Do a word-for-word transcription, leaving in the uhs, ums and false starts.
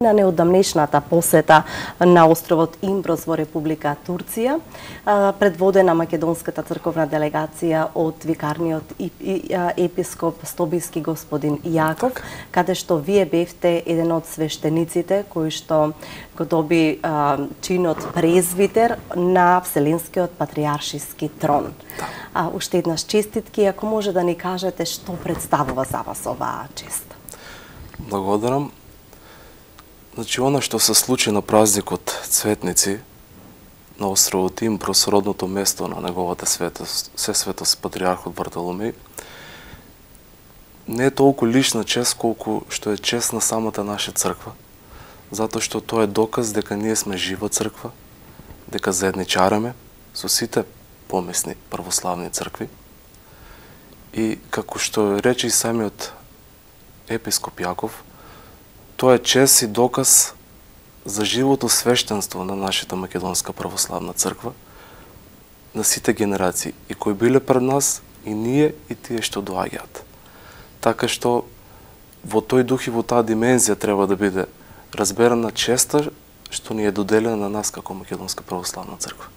На неодамнешната посета на островот Имброс во Република Турција, предводена македонската црковна делегација од викарниот епископ Стобиски господин Јаков, каде што вие бевте еден од свештениците кои што го доби чинот презвитер на Вселенскиот патријаршиски трон. Уште еднаш честитки, ако може да ни кажете што представува за вас оваа чест. Благодарам. Значи, она што се случи на празникот Цветници на островот Имброс, родното место на неговата светост, Сесветост Патријархот Вартоломеј, не е толку лична чест колку што е чест на самата наша црква, затоа што тоа е доказ дека ние сме жива црква, дека заедничараме со сите помесни православни цркви. И како што рече и самиот епископ Јаков, тоа е чест и доказ за живото свештенство на нашата македонска православна црква, на сите генерации, и кои биле пред нас, и ние, и тие што доаѓаат. Така што во тој дух и во таа димензија треба да биде разберана честа што ни е доделена на нас како македонска православна црква.